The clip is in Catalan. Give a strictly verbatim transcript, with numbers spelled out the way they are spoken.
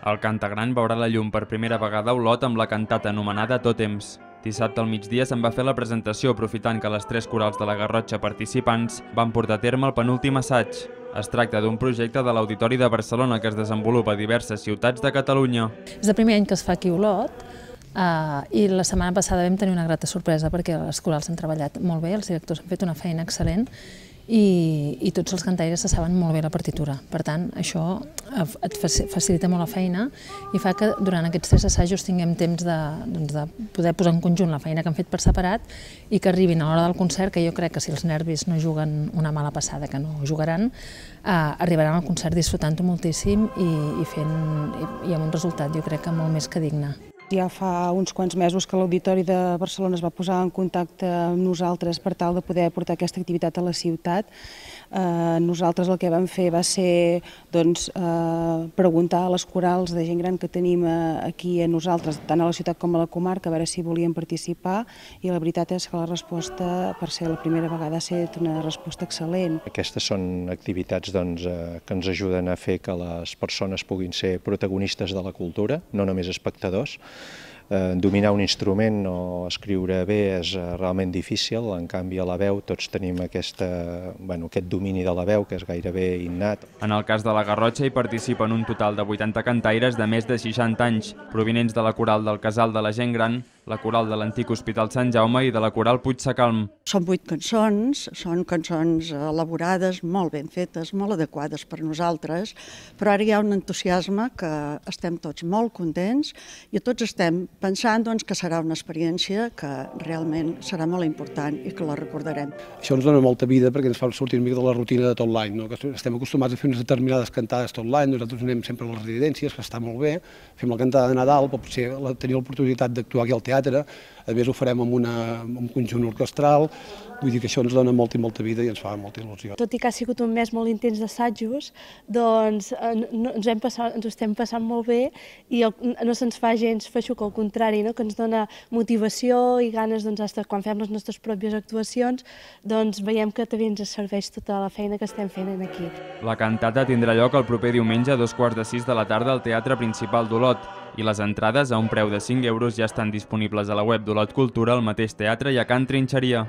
El Cantagran veurà la llum per primera vegada a Olot amb la cantata anomenada Tòtems. Dissabte al migdia se'n va fer la presentació aprofitant que les tres corals de la Garrotxa participants van portar a terme el penúltim assaig. Es tracta d'un projecte de l'Auditori de Barcelona que es desenvolupa a diverses ciutats de Catalunya. És el primer any que es fa aquí a Olot eh, i la setmana passada vam tenir una grata sorpresa perquè les corals han treballat molt bé, els directors han fet una feina excel·lent i, i tots els cantaires se saben molt bé la partitura. Per tant, això et facilita molt la feina i fa que durant aquests tres assajos tinguem temps de, doncs, de poder posar en conjunt la feina que han fet per separat i que arribin a l'hora del concert, que jo crec que si els nervis no juguen una mala passada, que no jugaran, eh, arribaran al concert disfrutant-ho moltíssim i, i, fent, i, i amb un resultat jo crec que molt més que digne. Ja fa uns quants mesos que l'Auditori de Barcelona es va posar en contacte amb nosaltres per tal de poder portar aquesta activitat a la ciutat. Eh, nosaltres el que vam fer va ser doncs, eh, preguntar a les corals de gent gran que tenim aquí a nosaltres, tant a la ciutat com a la comarca, a veure si volien participar, i la veritat és que la resposta, per ser la primera vegada, ha estat una resposta excel·lent. Aquestes són activitats doncs, eh, que ens ajuden a fer que les persones puguin ser protagonistes de la cultura, no només espectadors. Eh, dominar un instrument o escriure bé és eh, realment difícil, en canvi a la veu tots tenim aquesta, bueno, aquest domini de la veu que és gairebé innat. En el cas de la Garrotxa hi participen un total de vuitanta cantaires de més de seixanta anys, provinents de la coral del Casal de la Gent Gran, la coral de l'antic Hospital Sant Jaume i de la coral Puigsecalm. Són vuit cançons, són cançons elaborades, molt ben fetes, molt adequades per nosaltres, però ara hi ha un entusiasme que estem tots molt contents i tots estem pensant doncs, que serà una experiència que realment serà molt important i que la recordarem. Això ens dona molta vida perquè ens fa sortir una mica de la rutina de tot l'any, no? Que estem acostumats a fer unes determinades cantades tot l'any, nosaltres anem sempre a les residències, que està molt bé, fem la cantada de Nadal, però potser tenir l'oportunitat d'actuar aquí al teatre, a més ho farem amb, una, amb un conjunt orquestral, vull dir que això ens dona molta i molta vida i ens fa molta il·lusió. Tot i que ha sigut un mes molt intens d'assajos, doncs no, ens, hem passat, ens ho estem passant molt bé i el, no se'ns fa gens feixuc, al contrari, no? Que ens dona motivació i ganes, doncs, hasta quan fem les nostres pròpies actuacions, doncs veiem que també ens serveix tota la feina que estem fent aquí. La cantata tindrà lloc el proper diumenge a dos quarts de sis de la tarda al Teatre Principal d'Olot i les entrades a un preu de cinc euros ja estan disponibles a la web d'Olot Cultura, al mateix teatre i a Can Trinxeria.